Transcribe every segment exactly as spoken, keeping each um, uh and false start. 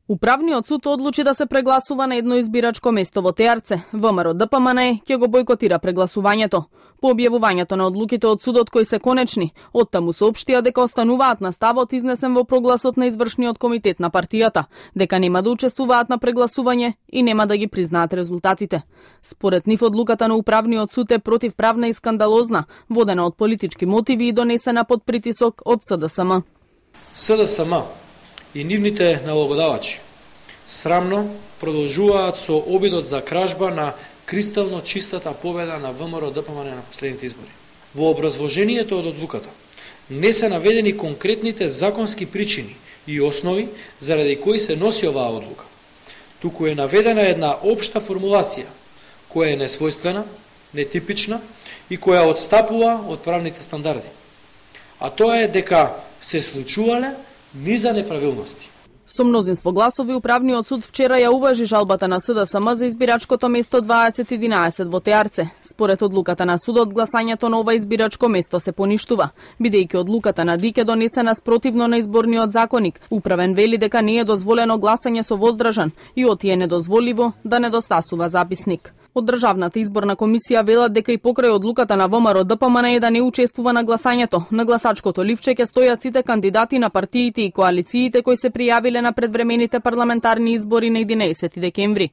Управниот суд одлучи да се прегласува на едно избирачко место во Теарце. ВМРО Д П М Н Е ќе го бојкотира прегласувањето. По објавувањето на одлуките од судот кои се конечни, оттаму соопштија дека остануваат на ставот изнесен во прогласот на извршниот комитет на партијата, дека нема да учествуваат на прегласување и нема да ги признаат резултатите. Според нив одлуката на Управниот суд е противправна и скандалозна, водена од политички мотиви и донесена под притисок од С Д С М. С Д С М и нивните налогодавачи срамно продолжуваат со обидот за кражба на кристално чистата победа на ВМРО Д П М Н на последните избори. Во образложението од одлуката не се наведени конкретните законски причини и основи заради кои се носи оваа одлука. Туку е наведена една општа формулација која е несвојствена, нетипична и која отстапува од правните стандарди. А тоа е дека се случувале низа неправилности. Со мнозинство гласови Управниот суд вчера ја уважи жалбата на С Д С М за избирачкото место дваесет единаесет во Теарце. Според одлуката на судот, гласањето на ова избирачко место се поништува, бидејќи одлуката на Д И К е донесена спротивно на изборниот законник. Управен вели дека не е дозволено гласање со воздржан и оти е недозволиво да недостасува записник. Од Државната изборна комисија велат дека и покрај одлуката на ВМРО Д П М Н Е да не учествува на гласањето, на гласачкото ливче ќе стојат сите кандидати на партиите и коалициите кои се пријавиле на предвремените парламентарни избори на единаесети декември.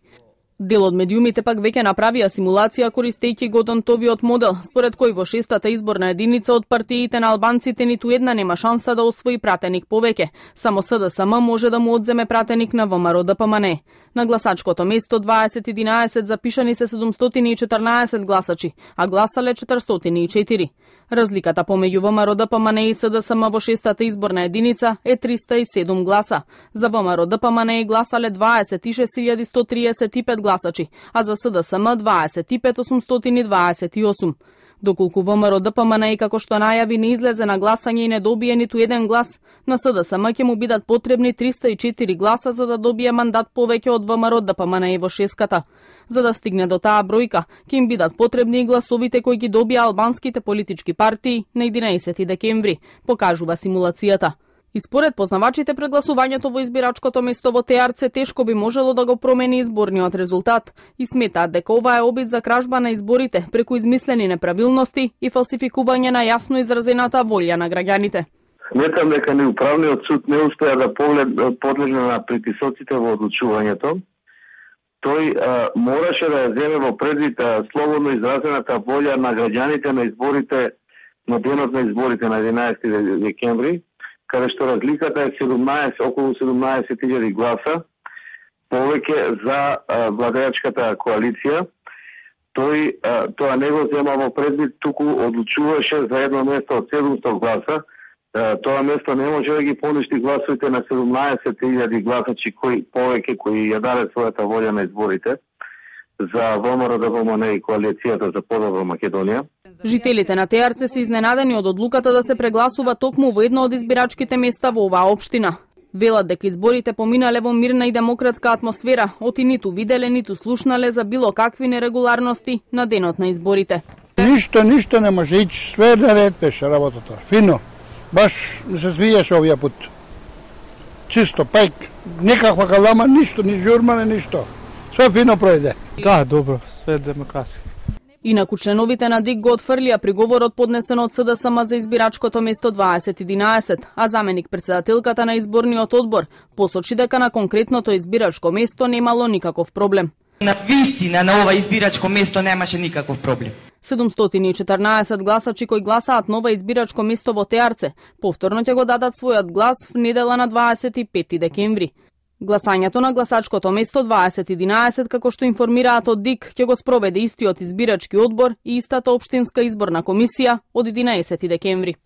Дел од медиумите пак веќе направија симулација користејќи го Донтовиот модел, според кој во шестата изборна единица од партиите на албанците ниту една нема шанса да освои пратеник повеќе. Само С Д С М може да му одземе пратеник на ВМРО Д П М Н Е. На гласачкото место дваесет единаесет запишани се седумстотини и четрнаесет гласачи, а гласале четиристотини и четири. Разликата помеѓу ВМРО Д П М Н Е и С Д С М во шестата изборна единица е триста и седум гласа. За ВМРО Д П М Н Е гласале дваесет и шест илјади сто триесет и пет гласачи, а за С Д С М дваесет и пет илјади осумстотини дваесет и осум. Доколку ВМРО Д П М Н Е, како што најави, не излезе на гласање и не добие ниту еден глас, на С Д С М ќе му бидат потребни триста и четири гласа за да добие мандат повеќе од ВМРО Д П М Н Е во шеската. За да стигне до таа бројка, ќе им бидат потребни и гласовите кои ги добија албанските политички партии на единаесети декември, покажува симулацијата. И според познавачите, прегласувањето во избирачкото место во Теарце тешко би можело да го промени изборниот резултат и сметаат дека ова е обид за кражба на изборите преку измислени неправилности и фалсификување на јасно изразената волја на граѓаните. Сметам дека ни Управниот суд не успеа да подлежне на притисоците во одлучувањето. Тој а, мораше да ја земе во предвид а, слободно изразената волја на граѓаните на изборите, на денот на изборите на единаесети декември, каде што разликата е седумнаесет, околу седумнаесет илјади гласа повеќе за а, владеачката коалиција. Тој а, тоа не го зема во предвид, туку одлучуваше за едно место од седумсто гласа. А, тоа место не може да ги поништи гласовите на седумнаесет илјади гласачи кои повеќе кои ја даде својата волја на изборите за ВМРО Д П М Н Е и коалицијата за подобра Македонија. Жителите на Теарце се изненадени од одлуката да се прегласува токму во едно од избирачките места во оваа општина. Велат дека изборите поминале во мирна и демократска атмосфера, оти ниту виделе, ниту слушнале за било какви нерегуларности на денот на изборите. Ништо, ништо не може ич, све наред беше работата. Фино. Баш не се свијаше овија пут. Чисто, пајк, никаква калама, ништо, ни журмане, ништо. Све фино пројде. Да, добро, све демократски. Инаку членовите на Д И К го отфрлија приговорот поднесен од С Д С М за избирачкото место дваесет единаесет, а заменик председателката на изборниот одбор посочи дека на конкретното избирачко место немало никаков проблем. На вистина на ова избирачко место немаше никаков проблем. седумстотини и четрнаесет гласачи кои гласаат на ова избирачко место во Теарце повторно ќе го дадат својот глас в недела на дваесет и пети декември. Гласањето на гласачкото место дваесет единаесет, како што информираат од Д И К, ќе го спроведе истиот избирачки одбор и истата општинска изборна комисија од единаесети декември.